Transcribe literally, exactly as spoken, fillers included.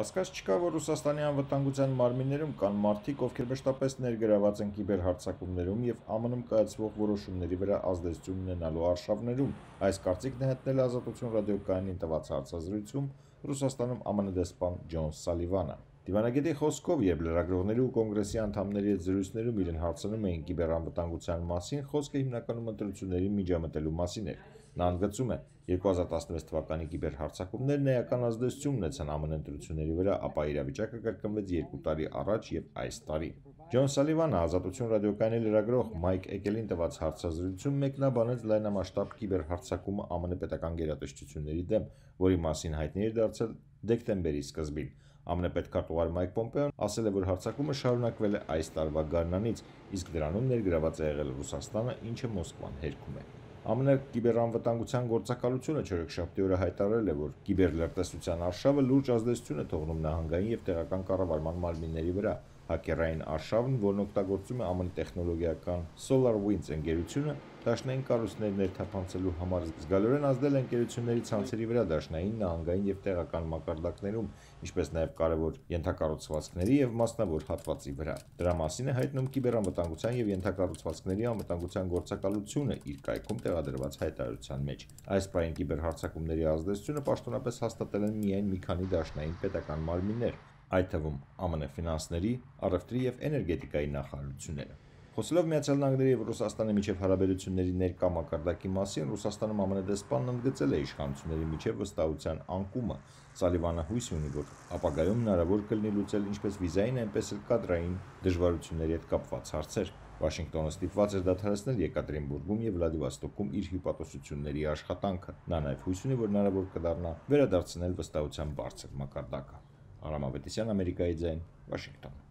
Կասկած չկա, որ Ռուսաստանի անվտանգության մարմիններում կան մարդիկ, ովքեր մշտապես ներգրաված են կիբերհարձակումներում և ԱՄՆ-ում կայացվող որոշումների վրա ազդեցություն ունենալու արշավներում։ Այս կարծիքն է հայտնել Ազատություն ռադիոկայանին տված հարցազրույցում Ռուսաստանում ԱՄՆ դեսպան Ջոն Սալիվանը։ Դիվանագետի խոսքով, երբ լրագրողների ու կոնգրեսի անդամների հետ զրույցներում իրեն հարցնում էին կիբերանվտանգության մասին, խոսքը հիմնականում ընտրություններին միջամտելու մասին էր։ Նա ընդգծում է, երկու հազար տասնվեց թվականի կիբերհարձակումներն էական ազդեցություն ունեցան ԱՄՆ ընտրությունների վրա, ապա իրավիճակը կրկնվեց երկու տարի առաջ և այս տարի։ Ջոն Սալիվանը Ազատություն ռադիոկայանի լրագրող Մայք Էգելին տված հարցազրույցում մեկնաբանեց լայնամասշտաբ կիբերհարձակումը ԱՄՆ պետական գերատեսչությունների դեմ, որի մասին հայտնի էր դարձել դեկտեմբերի սկզբին։ ԱՄՆ պետքարտուղար Մայք Պոմպեոն ասել է, որ հարձակումը շարունակվել է այս տարվա գարնանից, իսկ դրանում ներգրաված է եղել Ռուսաստանը, ինչը Մոսկվան հերքում է։ ԱՄՆ կիբերանվտանգության գործակալությունը չորեքշաբթի օրը հայտարարել է, որ կիբերլրտեսության արշավը լուրջ ազդեցություն է թողնում նահանգային և տեղական կառավարման մարմինների վրա։ Հաքերային արշավն, որն օգտագործում է ԱՄՆ տեխնոլոգիական SolarWinds ընկերությունը, դաշնային կառույցներ ներթափանցելու համար զգալիորեն ազդել է ընկերությունների ցանցերի վրա դաշնային, նահանգային և տեղական մակարդակներում, ինչպես նաև կարևոր ենթակառուցվածքների և մասնավոր հատվածի վրա։ Դրա մասին է հայտնում Կիբերանվտանգության և ենթակառուցվածքների անվտանգության գործակալությունը իր կայքում տեղադրված հայտարարության մեջ։ Այս պահին կիբերհարձակումների ազդեցությունը պաշտոնապես հաստատել են միայն մի քանի դաշնային պետական մարմիններ, այդ թվում ԱՄՆ ֆինանսների, առևտրի և էներգետիկայի նախարարությունները։ Խոսելով Միացյալ Նահանգների և Ռուսաստանի միջև հարաբերությունների ներկա մակարդակի մասին, Ռուսաստանում ԱՄՆ դեսպանն ընդգծել է իշխանությունների միջև վստահության անկումը։ Սալիվանը հույս ունի, որ ապագայում հնարավոր կլինի լուծել ինչպես վիզային, այնպես էլ կադրային դժվարությունների հետ կապված հարցեր։ Վաշինգտոնը ստիպված էր դադարեցնել Եկատերինբուրգում և Վլադիվոստոկում իր հյուպատոսությունների աշխատանքը։ Նա նաև հույս ունի, որ հնարավոր կդառնա վերադարձնել վստահության բարձր մակարդակը։ Արամ Ավետիսյան, Ամերիկայի ձայն, Վաշինգտոն։